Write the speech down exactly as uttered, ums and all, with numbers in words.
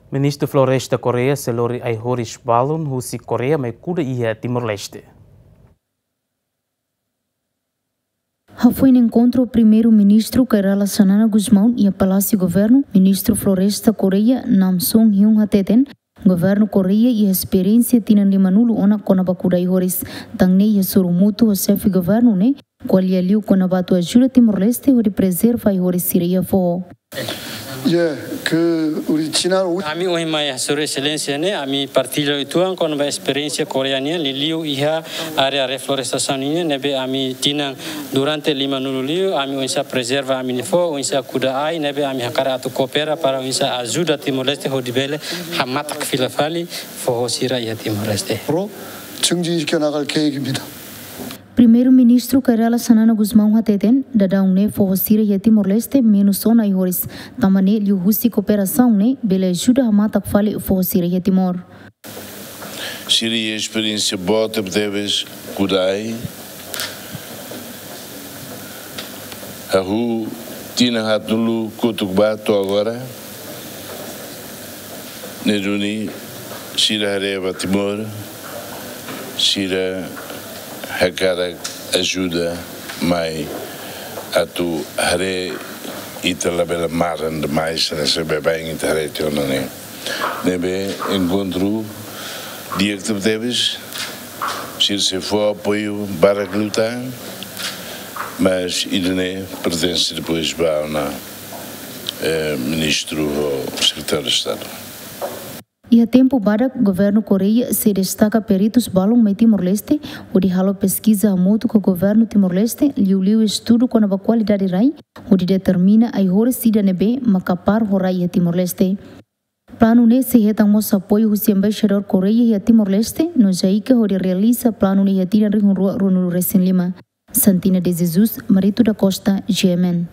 Ministru Floresta Korea sei lori ai-horis balun husi Korea mai kuda iha Timor-Leste. Hafoin enkontru Primeiru-Ministru Kay Rala Xanana Gusmão iha Palásiu Governu, Ministru Floresta Korea Nam Sung Hyun hateten, Governu Korea iha esperiénsia tinan limanulu ona kona-ba kuda ai-horis. Tan ne'e iha sorumutu ho xefe governu ne'e ko'alia liu kona-ba atu ajuda Timor-Leste hodi prezerva ai-horis sira iha foho. Ya, ke original. Ami ohin mai hasoru Exelénsia ne'e, ami partilla uitoan kona-ba esperiénsia Korea nian, liuliu iha área reflorestasaun nian, ne'ebé ami tinan durante limanulu liu, ami oinsá prezerva ami-nia foho, oinsá kuda ai, ne'ebé ami hakarak atu koopera para oinsá ajuda Timor-Leste hodi bele hamatak fila fali foho sira iha Timor-Leste. Pro, chungji ke nakal ke gimina. Primeiru-Ministru Kay Rala Xanana Gusmão hateten, daudaun ne'e foho sira iha Timor-Leste menus ona ai-horis. Tanba ne'e liuhusi kooperasaun ne'e bele ajuda hamatak fali foho sira iha Timor. Sira iha esperiénsia boot tebetebes kuda ai. Hahú tinan haatnulu kotuk ba to'o agora. Ne'e duni sira haree ba Timor, sira hakarak ajuda mai atu haree ita labele maran demais, hanesan baibain ita haree tiha ona ne'e. Ne'ebé enkontru di'ak tebetebes, sira sei fó apoiu barak liután, mas ida-ne'e pertense depois ba ona, eh, ministru ho sekretáriu Estadu. Iha tempu badak, Governu Korea sei destaka peritus balun mai Timor-Leste, hodi halo peskiza hamutuk ho Governu Timor-Leste, liuliu estudu kona-ba kualidade rai, hodi determina ai-horis ida ne'ebé mak kapar ho rai iha Timor-Leste. Planu ne'e sei hetan mós apoiu husi Embaixadór Korea iha Timor-Leste, no JICA hodi realiza planu ne'e iha tinan rihun rua ruanulu resin lima. Santina de Jesus, Marito da Costa, G M N.